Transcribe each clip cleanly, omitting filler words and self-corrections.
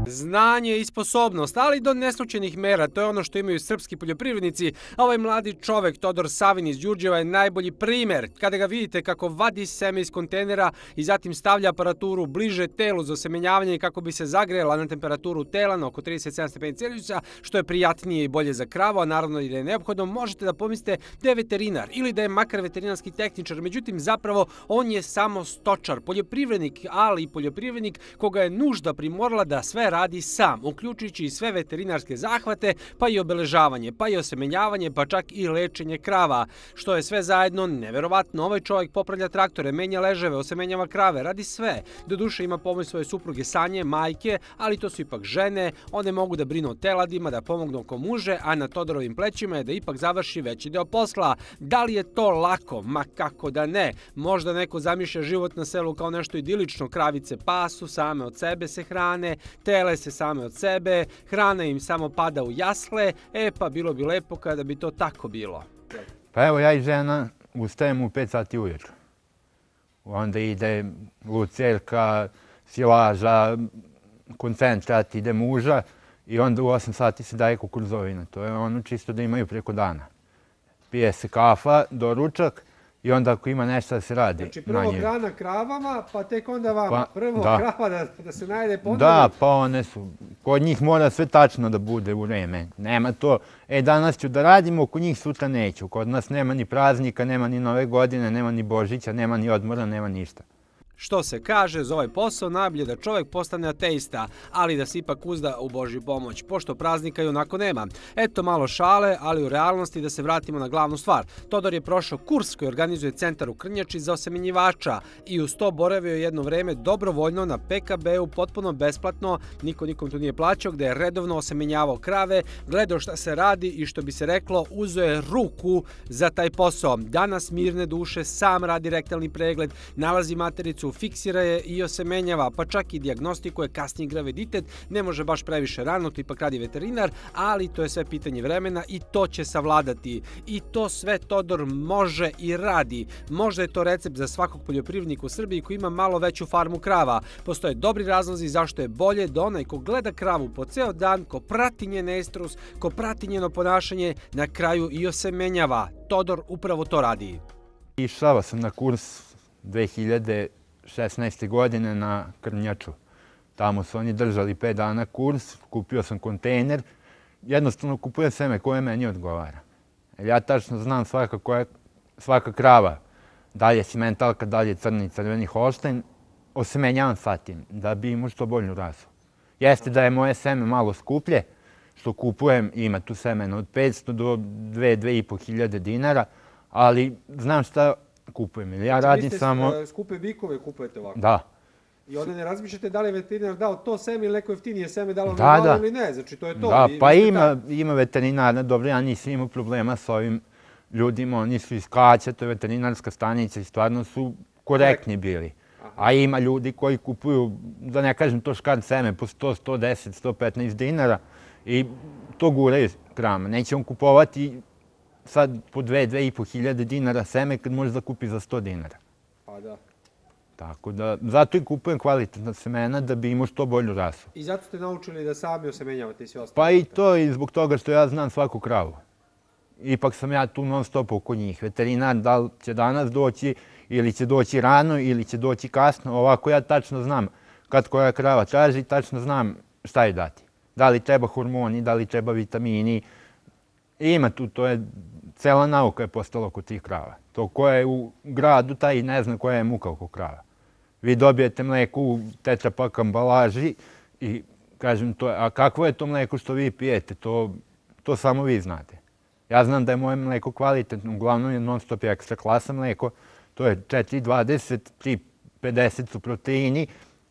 Znanje i sposobnost, ali do neslučajnih mera, to je ono što imaju srpski poljoprivrednici, a ovaj mladi čovek, Todor Savin iz Đurđeva, je najbolji primer. Kada ga vidite kako vadi seme iz kontejnera i zatim stavlja aparaturu bliže telu za osemenjavanje kako bi se zagrela na temperaturu tela na oko 37 stepeni Celzijusa, što je prijatnije i bolje za kravu, a naravno i da je neophodno, možete da pomislite da je veterinar ili da je makar veterinarski tehničar, međutim zapravo on je samo stočar, poljoprivrednik, ali i poljoprivrednik koga je nužda primorala da sve radi sam, uključujući i sve veterinarske zahvate, pa i obeležavanje, pa i osemenjavanje, pa čak i lečenje krava, što je sve zajedno neverovatno. Ovaj čovjek popravlja traktore, menja leževe, osemenjava krave, radi sve. Doduše ima pomoć svoje supruge Sanje, majke, ali to su ipak žene, one mogu da brinu o teladima, da pomognu oko muže, a na Todorovim plećima je da ipak završi veći deo posla. Da li je to lako? Ma kako da ne. Možda neko zamišlja život na selu kao nešto idilično, kravice pasu, same od sebe se hrane, tele se same od sebe, hrana im samo pada u jasle, pa bilo bi lepo kada bi to tako bilo. Pa evo ja i žena ustajemo u 5 sati ujutro. Onda ide lucerka, silaža, koncentrat, ide muža i onda u 8 sati se daje kukuruzovina. To je ono čisto da imaju preko dana. Pije se kafa, doručak i onda ako ima nešto da se radi. Znači prvo hrana kravama, pa tek onda vama. Prvo krava da se najede ponuditi. Da, pa one su. Kod njih mora sve tačno da bude u vreme. Nema to, danas ću da radimo, kod njih sutra neću. Kod nas nema ni praznika, nema ni Nove godine, nema ni Božića, nema ni odmora, nema ništa. Što se kaže, za ovaj posao najbolje da čovjek postane ateista, ali da se ipak uzda u Božju pomoć, pošto praznika i onako nema. Eto malo šale, ali u realnosti da se vratimo na glavnu stvar. Todor je prošao kurs koji organizuje centar u Krnjači za osemenjivača i uz to boravio jedno vreme dobrovoljno na PKB-u potpuno besplatno, niko nikom tu nije plaćao, gde je redovno osemenjavao krave, gledao šta se radi i što bi se reklo, uzeo je ruku za taj posao. Danas mirne duše sam radi rektalni pregled, nalazi matericu, fiksira je i osemenjava, pa čak i dijagnostikuje kasniji graviditet, ne može baš previše rano, to ipak radi veterinar, ali to je sve pitanje vremena i to će savladati. I to sve Todor može i radi. Možda je to recept za svakog poljoprivrednika u Srbiji koji ima malo veću farmu krava. Postoje dobri razlozi zašto je bolje da onaj ko gleda kravu po ceo dan, ko prati njen estrus, ko prati njeno ponašanje, na kraju i osemenjava. Todor upravo to radi. Išao sam na kurs 2016. godine na Krnjaču. Tamo su oni držali 5 dana kurs, kupio sam kontejner. Jednostavno kupujem seme koje meni odgovara. Ja tačno znam svaka krava, da li je simentalka, da li je crni, crveni holštajn, osemenjavam sa tim, da bi imao što bolju rasu. Jeste da je moje seme malo skuplje, što kupujem, ima tu semena od 500 do 2-2,5 hiljade dinara, ali znam šta kupujem. Ja radim samo... Vi ste skupe bikove kupujete ovako? Da. I onda ne razmišljate da li je veterinar dao to seme ili neko jeftinije seme, da li ono malo ili ne, znači to je to. Da, pa ima veterinarna, dobro, ja nisam imao problema s ovim ljudima, oni su iz Kaća, to je veterinarska stanica i stvarno su korektni bili. A ima ljudi koji kupuju, da ne kažem to škart seme, po 100, 110, 115 dinara i to guraju krama. Neće on kupovati sad po 2-2,5 hiljade dinara seme kad može da kupi za 100 dinara. Pa da. Tako da, zato i kupujem kvalitetna semena da bi imao što bolju rasu. I zato ste naučili da sami osemenjavate i sve ostalo? Pa i to i zbog toga što ja znam svaku kravu. Ipak sam ja tu non stop oko njih. Veterinar da li će danas doći ili će doći rano ili će doći kasno. Ovako ja tačno znam kad koja krava traži, tačno znam šta je dati. Da li treba hormoni, da li treba vitamini. Ima tu, to je cela nauka je postala oko tih krava. To ko je u gradu, taj ne zna koja je muka oko krava. Vi dobijete mleko u tetrapak ambalaži i kažem to, a kakvo je to mleko što vi pijete, to samo vi znate. Ja znam da je moje mleko kvalitetno, uglavnom je non stop ekstra klasa mleko, to je 4,20, 3,50 su proteini,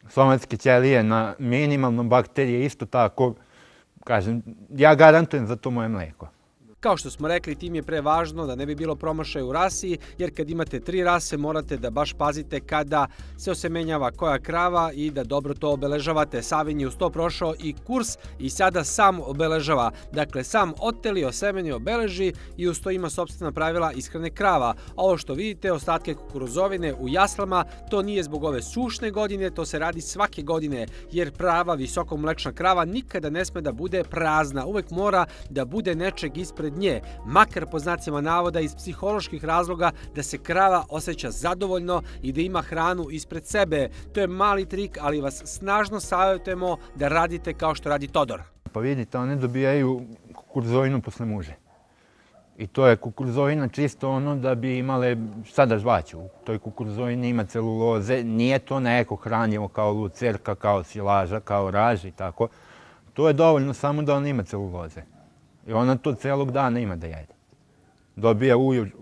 somatske ćelije na minimalnom, bakterije isto tako, kažem, ja garantujem za to moje mleko. Kao što smo rekli, tim je pre važno da ne bi bilo promašaja u rasi, jer kad imate 3 rase morate da baš pazite kada se osemenjava koja krava i da dobro to obeležavate. Savin je uz to prošao i kurs i sada sam obeležava. Dakle, sam oteli, osemeni, obeleži i uz to ima sopstvena pravila ishrane krava. Ovo što vidite, ostatke kukuruzovine u jaslama, to nije zbog ove sušne godine, to se radi svake godine, jer prava visokomlečna krava nikada ne sme da bude prazna. Uvek mora da bude nečeg ispred nje, makar po znacima navoda iz psiholoških razloga da se krava osjeća zadovoljno i da ima hranu ispred sebe. To je mali trik, ali vas snažno savjetujemo da radite kao što radi Todor. Pa vidite, one dobijaju kukuruzovinu posle muže. I to je kukuruzovina čisto ono da bi imale šta da žvaću. U toj kukuruzovini ima celuloze, nije to neko hranjivo kao lucerka, kao silaža, kao raž i tako. To je dovoljno samo da ona ima celuloze. I ona to celog dana ima da jede. Dobija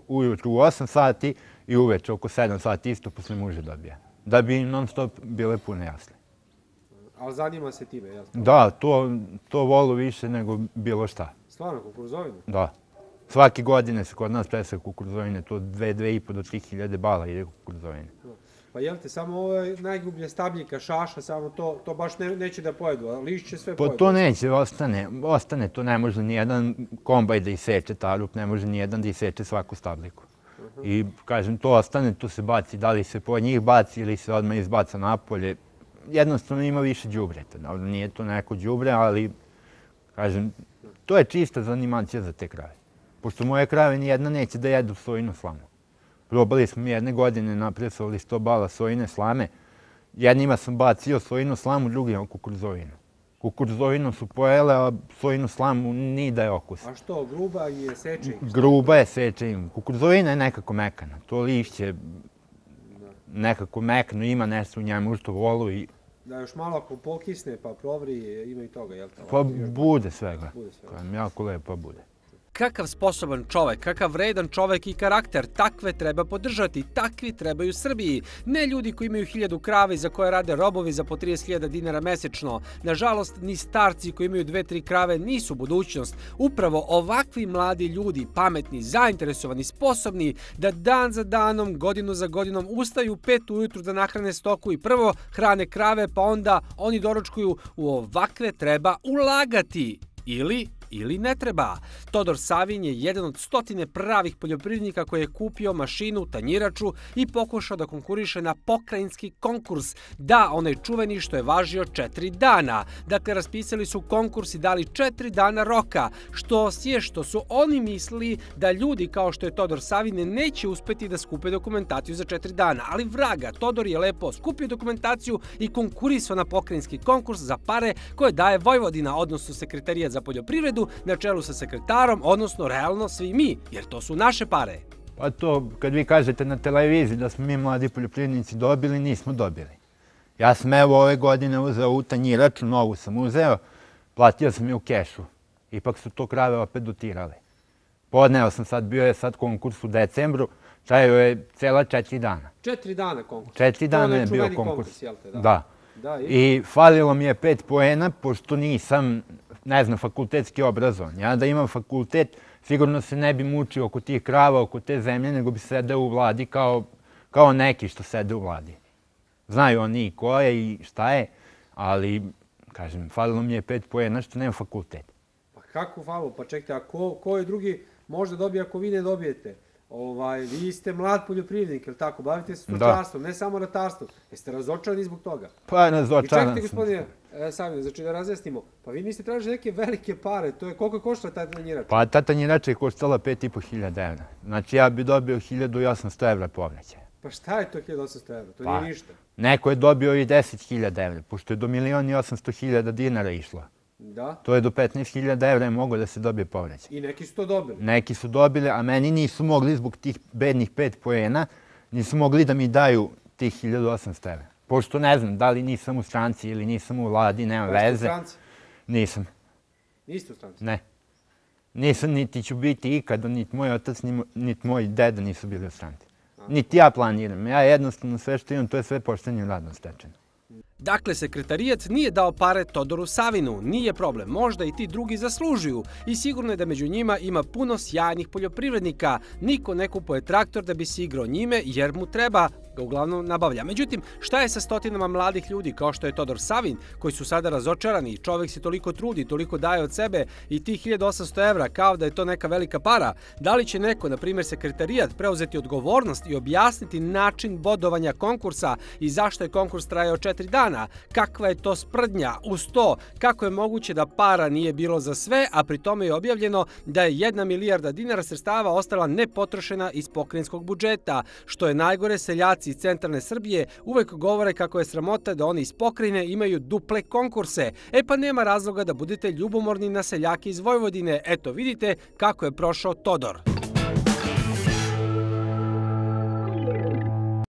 ujutru u 8 sati i uveče oko 7 sati isto posle muže dobija. Da bi non stop bile pune jasle. Ali zanima se time, jel? Da, to volu više nego bilo šta. Stvarno, kukuruzovinu? Da. Svake godine se kod nas presaju kukuruzovine, to 2,5 do 3.000 bala ide kukuruzovine. Pa jel te, samo ovo najgrublje stabljika, šaša, samo to baš neće da pojedu, a lišće sve pojedu? Pa to neće, ostane, to ne može nijedan kombaj da iseče tarup, ne može nijedan da iseče svaku stabljiku. I kažem, to ostane, to se baci, da li se po njih baci ili se odmah izbaca napolje. Jednostavno ima više đubreta, nije to neko đubre, ali kažem, to je čista zanimacija za te krave. Pošto moje krave nijedna neće da jedu sojinu slamu. Probali smo jedne godine, napresovali 100 bala sojine slame. Jednima sam bacio sojinu slamu, drugima kukuruzovinu. Kukuruzovinu su pojele, a sojinu slamu ni da je okus. A što, gruba je seče? Gruba je seče im. Kukuruzovina je nekako mekana. To lišće nekako mekano, ima nešto u njemu što volu i... Da još malo ako pokisne pa provri, ima i toga, jel' to? Pa bude svega. Jako lepo bude. Kakav sposoban čovek, kakav vredan čovek i karakter, takve treba podržati, takvi trebaju Srbiji. Ne ljudi koji imaju 1000 krava i za koje rade robovi za po 30.000 dinara mesečno. Nažalost, ni starci koji imaju 2-3 krave nisu budućnost. Upravo ovakvi mladi ljudi, pametni, zainteresovani, sposobni, da dan za danom, godinu za godinom ustaju 5 ujutru da nahrane stoku i prvo hrane krave, pa onda oni doručkuju. U ovakve treba ulagati. Ili ne treba. Todor Savin je jedan od 100 pravih poljoprivrednika koji je kupio mašinu, tanjiraču i pokušao da konkuriše na pokrajinski konkurs. Da, onaj čuveni što je važio 4 dana. Dakle, raspisali su konkurs i dali 4 dana roka. Što su oni mislili da ljudi kao što je Todor Savin neće uspeti da skupe dokumentaciju za 4 dana. Ali vraga, Todor je lepo skupio dokumentaciju i konkurisao na pokrajinski konkurs za pare koje daje Vojvodina, odnosno Sekretarijat za poljoprivredu, na čelu sa sekretarom, odnosno realno svi mi, jer to su naše pare. Pa to, kad vi kažete na televiziji da smo mi mladi poljoprivrednici dobili, nismo dobili. Ja sam evo ove godine uzeo u tanjiraču, novu sam uzeo, platio sam je u kešu. Ipak su to krave opet dotirale. Podneo sam sad, bio je sad konkurs u decembru, trajao je cela 4 dana. 4 dana konkurs? 4 dana je bio konkurs. Da. I falilo mi je 5 poena, pošto nisam, ne znam, fakultetski obrazovan. Ja da imam fakultet, sigurno se ne bi mučio oko tih krava, oko te zemlje, nego bi sedeo u vladi kao neki što sede u vladi. Znaju oni ko je i šta je, ali, kažem, falilo mi je 5 poena što nemam fakultet. Pa kako falilo? Pa čekajte, a ko je drugi može dobije ako vi ne dobijete? Vi ste mlad poljoprivrednik, jel' tako? Bavite se stočarstvom, ne samo ratarstvom. Jeste razočarani zbog toga? Pa razočaran sam. I čekajte, gospodine Savin, znači da razjasnimo. Pa vi niste tražili neke velike pare, to je koliko košta ta tanjirača? Pa ta tanjirača je koštala 5.500 evra. Znači ja bi dobio 1.800 evra povraćaja. Pa šta je to 1.800 evra? To nije ništa. Neko je dobio i 10.000 evra, pošto je do 1.800.000 dinara išlo. Da. To je do 15.000 evra je moglo da se dobije povraćaj. I neki su to dobili? Neki su dobili, a meni nisu mogli zbog tih bednih 5 poena, nisu mogli da mi daju tih 1.800 evra. Pošto ne znam, da li nisam u stranci ili nisam u vladi, nema veze. Jeste u stranci? Nisam. Niste u stranci? Ne. Nisam, niti ću biti ikada, niti moj otac, niti moj deda nisu bili u stranci. Niti ja planiram. Ja jednostavno sve što imam, to je sve poštenjem radom stečeno. Dakle, sekretarijat nije dao pare Todoru Savinu, nije problem, možda i ti drugi zaslužuju i sigurno je da među njima ima puno sjajnih poljoprivrednika. Niko ne kupuje traktor da bi se igrao njime jer mu treba, ga uglavnom nabavlja. Međutim, šta je sa stotinama mladih ljudi kao što je Todor Savin, koji su sada razočarani, čovek se toliko trudi, toliko daje od sebe i tih 1800 evra kao da je to neka velika para? Da li će neko, na primjer sekretarijat, preuzeti odgovornost i objasniti način bodovanja konkursa i zašto je konkurs trajao 4 dana? Kakva je to sprdnja? Uz to, kako je moguće da para nije bilo za sve, a pri tome je objavljeno da je 1 milijarda dinara sredstava ostala nepotrošena iz pokrajinskog budžeta? Što je najgore, seljaci iz centralne Srbije uvek govore kako je sramota da oni iz pokrajine imaju duple konkurse. E pa nema razloga da budete ljubomorni na seljake iz Vojvodine. Eto, vidite kako je prošao Todor.